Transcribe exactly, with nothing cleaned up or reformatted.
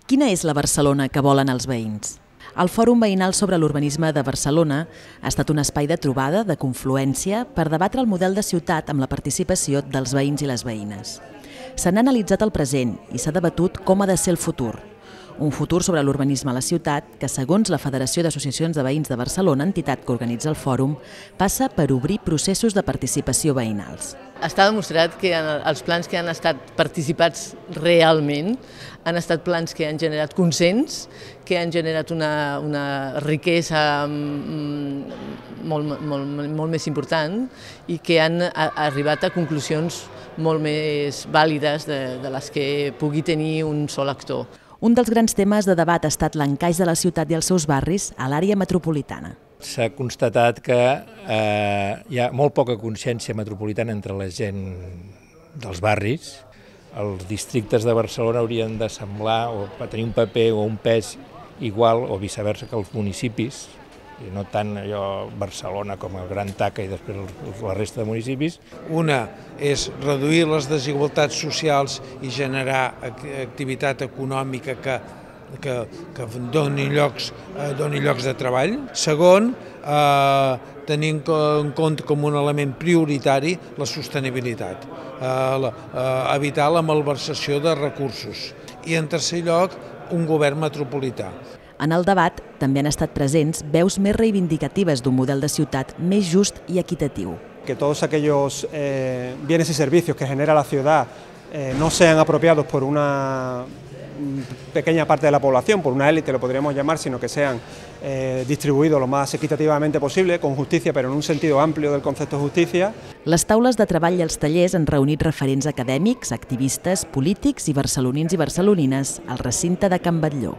Quina és la Barcelona que volen els veïns? El Fòrum Veïnal sobre l'Urbanisme de Barcelona ha estat un espai de trobada, de confluència, per debatre el model de ciutat amb la participació dels veïns i les veïnes. Se n'ha analitzat el present i s'ha debatut com ha de ser el futur. Un futur sobre l'urbanisme a la ciutat que, segons la Federació d'Associacions de Veïns de Barcelona, entitat que organitza el fòrum, passa per obrir processos de participació veïnals. Està demostrat que els plans que han estat participats realment han estat plans que han generat consens, que han generat una, una riquesa molt, molt, molt més important i que han arribat a conclusions molt més vàlides de, de les que pugui tenir un sol actor. Un dels grans temes de debat ha estat l'encaix de la ciutat i els seus barris a l'àrea metropolitana. S'ha constatat que eh, hi ha molt poca consciència metropolitana entre la gent dels barris. Els districtes de Barcelona haurien de semblar o tenir un paper o un pes igual o viceversa que els municipis, i no tant allò Barcelona com el gran taca i després la resta de municipis. Una és reduir les desigualtats socials i generar activitat econòmica que, que, que doni, llocs, doni llocs de treball. Segon, eh, tenir en compte com un element prioritari la sostenibilitat, eh, la, eh, evitar la malversació de recursos. I en tercer lloc, un govern metropolità. En el debat també han estat presents veus més reivindicatives d'un model de ciutat més just i equitatiu. Que todos aquellos eh, bienes y servicios que genera la ciudad eh, no sean apropiados por una pequeña parte de la población, por una élite lo podríamos llamar, sino que sean eh, distribuïdos lo más equitativamente posible, con justicia, pero en un sentido amplio del concepto de justicia. Les taules de treball i els tallers han reunit referents acadèmics, activistes, polítics i barcelonins i barcelonines al recinte de Can Batlló.